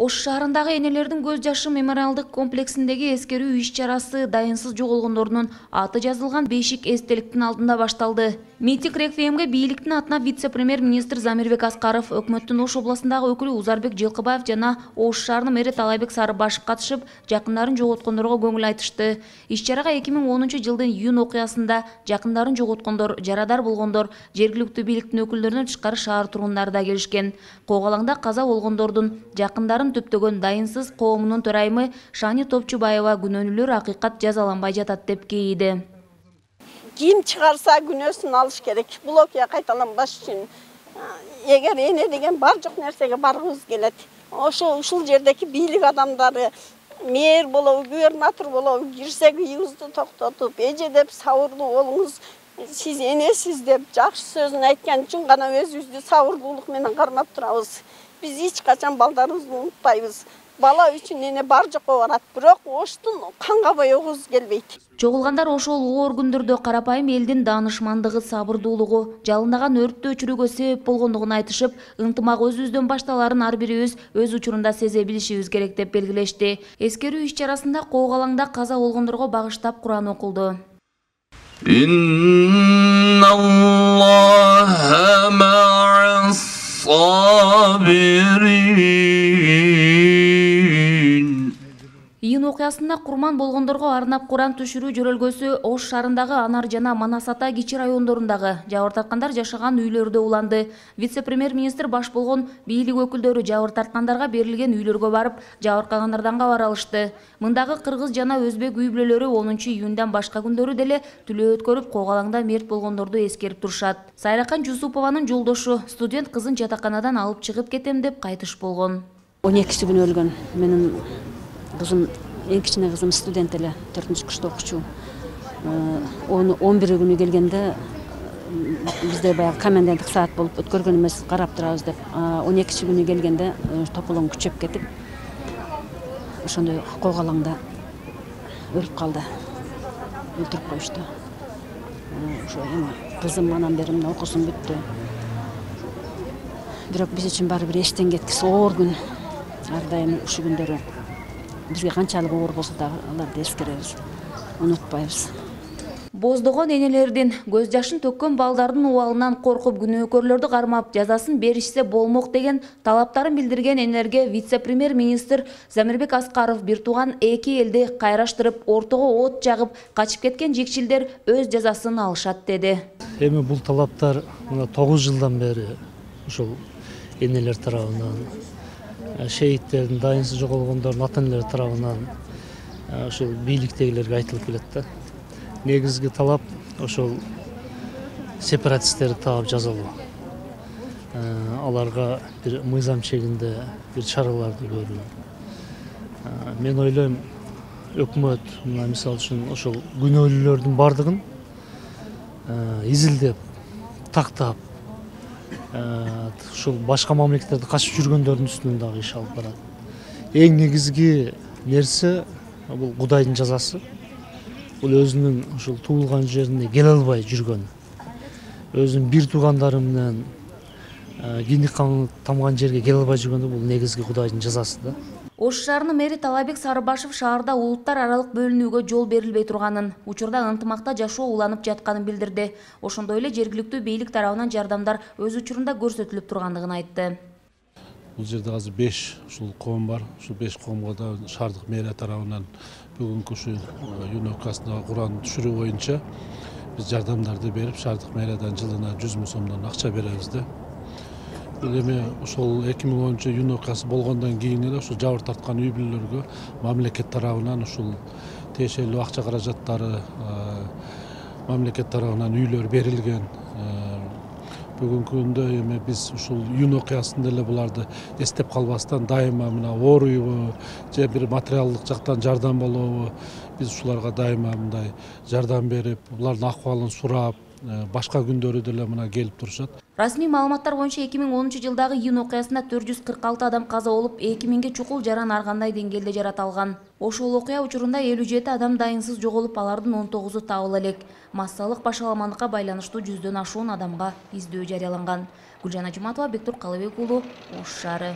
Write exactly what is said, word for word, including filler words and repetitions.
Ош шаарындагы энелердин көз жашы мемориалдык комплексиндеги эскерүү иш-чарасы дайынсыз жоголгондордун аты жазылган бешик эстеликтин алдында башталды. Митинг реквиемге бийликтин атына вице-премьер-министр Замирбек Аскаров, өкмөттүн Ош областындагы өкүлү Узарбек Жылкыбаев жана Ош шаарынын мэри Талайбек Сарыбашев катышып, жакындарын жоготкондорго көңүл айтышты. Иш-чарага эки миң онунчу жылдын июнь окуясында жакындарын жоготкондор, жарадар болгондор, жергиликтүү бийликтин өкүлдөрүнөн тышкары шаар тургундары да келишкен. Когалаңда каза болгондордун жакындарын төптөгөн дайынсыз коомунун төрайымы Шани Топчубаева күнөөнүлөр акыйкат жазаланбай жатат деп кейиди. Ким чыгарса күнөөсүн алыш керек. Бул окуя кайталанбаш үчүн эгер эне деген бар жок нерсеге баргыбыз келет. Ошо ушул жердеки бийлик адамдары, мэр болобу, губернатор болобу кирсе кыйыбызды токтотуп, эже деп сабырдуу болуңуз, сиз энесиз деп жакшы сөзүн айткан үчүн гана өзүбүздү сабырдуулук менен кармап турабыз. Биз эч качан балдарыбызды унутпайбыз. Бала үчүн эне бар жокко барат, бирок Оштун канга боегубуз келбейт. Чогулгандар ошол оор күндөрдө карапайым элдин даанышмандыгы, сабырдуулугу, жалындаган өрттү өчүрүүгө себеп болгондугун айтышып, ынтымак өзүбүздөн башталарын ар бирибиз өз учурунда сезе билишибиз керек деп белгилешти. Эскерүү иш-чарасында Когалаңда каза болгондорго багыштап Куран окулду. Инналлаха ма'ас сабирин. Июнь окуясында курман болгондорго арнап Куран түшүрүү жөрөлгөсү Ош шаарындагы Анар жана Манас Ата кичи райондорундагы жабыр тарткандар жашаган үйлөрдө уланды. Вице-премьер-министр баш болгон бийлик өкүлдөрү жабыр тарткандарга берилген үйлөргө барып, жабыркагандардан кабар алышты. Мындагы кыргыз жана өзбек үй бүлөлөрү онунчу июньдан башка күндөрү деле түлөө өткөрүп, Когалаңда мерт болгондорду эскерип турушат. Сайракан Жусупованын жолдошу студент кызын жатаканадан алып чыгып кетем деп кайтыш болгон. он экиси күнү өлгөн. Менин кызым, эң кичине кызым студент эле, төртүнчү курста окучу. он бир күнү келгенде бизде баягы коменданттык саат болуп өткөргөн эмес, карап турабыз деп. он экинчи күнү келгенде тополоң күчөп кетип, ошондой Когалаңда өлүп калды. Өлтүрүп коюшту. Ошо эми кызым анан бери мына окуусун бүттү. Бирок биз үчүн баары бир эчтен кеткис оор күн. Ар дайым ушул күндөрү бизге канчалык оор болсо да аларды эскеребиз, унутпайбыз. Боздогон энелердин, көз жашын төккөн балдардын убалынан коркуп күнөөкөрлөрдү кармап, жазасын беришсе болмок деген талаптарын билдирген энелерге вице-премьер-министр Замирбек Аскаров бир тууган эки элди кайраштырып, ортого от жагып, качып кеткен жекчилдер өз жазасын алышат деди. Эми бул талаптар мына тогуз жылдан бери ушул энелер тарабынан, шейиттердин, дайынсыз жоголгондордун ата-энелери тарабынан ошол бийликтегилерге айтылып келет да. Негизги талап ошол сепаратисттерди таап жазалоо. Аларга бир мыйзам чегинде бир чараларды көрүү. Мен ойлойм, өкмөт мына мисалы үчүн ошол күнөөлүүлөрдүн бардыгын изилдеп, тактап, ушул башка мамлекеттерде качып жүргөндөрдүн үстүнөн дагы иш алып барат. Эң негизги нерсе бул Кудайдын жазасы. Бул өзүнүн ушул туулган жерине келе албай жүргөн, өзүнүн бир туугандары менен киндик каны тамган жерге келе албай жүргөндө бул негизги Кудайдын жазасы да. Ош шаарынын мэри Талайбек Сарыбашев шаарда улуттар аралык бөлүнүүгө жол берилбей турганын, учурда ынтымакта жашоо уланып жатканын билдирди. Ошондой эле жергиликтүү бийлик тарабынан жардамдар өз учурунда көрсөтүлүп тургандыгын айтты. Бул жерде азыр беш ушул коом бар. Ушул беш коомго да шаардык мэрия тарабынан бүгүнкү ушул июнь окуясындагы Куран түшүрүү боюнча биз жардамдарды берип, шаардык мэриядан жылына жүз миң сомдон акча беребиз да. Бул эми ошол эки миң онунчу июнь окуясы болгондон кийин эле ушул жабыр тарткан үй бүлөлөргө мамлекет тарабынан ушул тиешелүү акча каражаттары мамлекет тарабынан үйлөр берилген. Бүгүнкү күндө эми биз ушул июнь окуясында эле буларды эстеп калбастан дайыма мына ооруйбу же бир материалдык жактан жардам болобу, биз ушуларга дайыма мындай жардам берип, булардын акыбалын сурап, башка күндөрү деле мына келип турушат. Расмий маалыматтар боюнча эки миң онунчу жылдагы июнь окуясында төрт жүз кырк алты адам каза болуп, эки миңге чукул жаран ар кандай деңгээлде жараталган. Ошол окуя учурунда элүү жети адам дайынсыз жоголуп, алардын он тогузу табыла элек. Массалык башаламандыкка байланыштуу жүздөн ашуун адамга издөө жарыяланган. Гүлжан Ажыматова, Бектур Калыбек уулу, Ош шаары.